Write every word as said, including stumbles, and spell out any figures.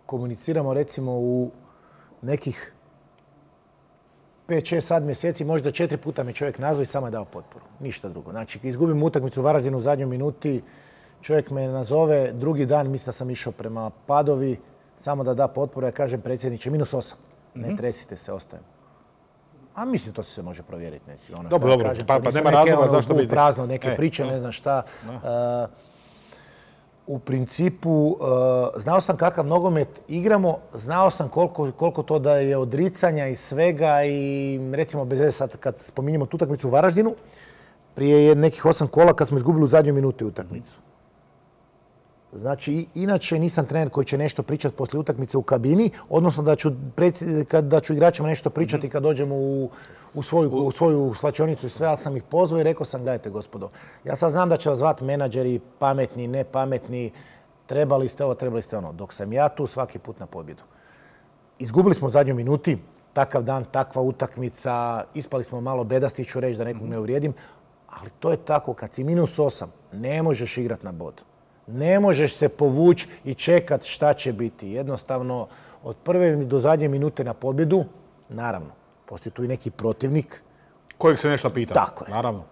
komuniciramo recimo u nekih pet, šest, sedam mjeseci, možda četiri puta me čovjek nazvao i samo je dao potporu. Ništa drugo. Znači, izgubim utakmicu u Varaždinu u zadnjoj minuti, čovjek me nazove, drugi dan mislim da sam išao prema Padovi, samo da da potporu, ja kažem predsjedniče, minus osam. Ne mm-hmm. tresite se, ostajemo. A mislim, to se sve može provjeriti. Neci. Ono dobro, dobro, kažem, pa, pa nema razloga ono, zašto biti. Prazno, neke e, priče, no. ne znam šta. No. Uh, u principu, uh, znao sam kakav nogomet igramo, znao sam koliko, koliko to da je odricanja i svega i recimo, bez veze sad kad spominjemo tu utakmicu u Varaždinu, prije nekih osam kola kad smo izgubili u zadnjoj minuti utakmicu. Znači, inače nisam trener koji će nešto pričati poslije utakmice u kabini, odnosno da ću, da ću igračima nešto pričati kad dođemo u, u, svoju, u svoju slačionicu i sve, ali sam ih pozvao i rekao sam, gledajte gospodo, ja sad znam da će vas zvati menadžeri, pametni, nepametni, trebali ste ovo, trebali ste ono. Dok sam ja tu svaki put na pobjedu. Izgubili smo u zadnjoj minuti, takav dan, takva utakmica, ispali smo malo bedasti, ću reći da nekog ne uvrijedim, ali to je tako, kad si minus osam, ne možeš igrati na bod. Ne možeš se povući i čekat šta će biti. Jednostavno, od prve do zadnje minute na pobjedu, naravno, postoji tu i neki protivnik. Kojeg se nešto pita. Tako je. Naravno.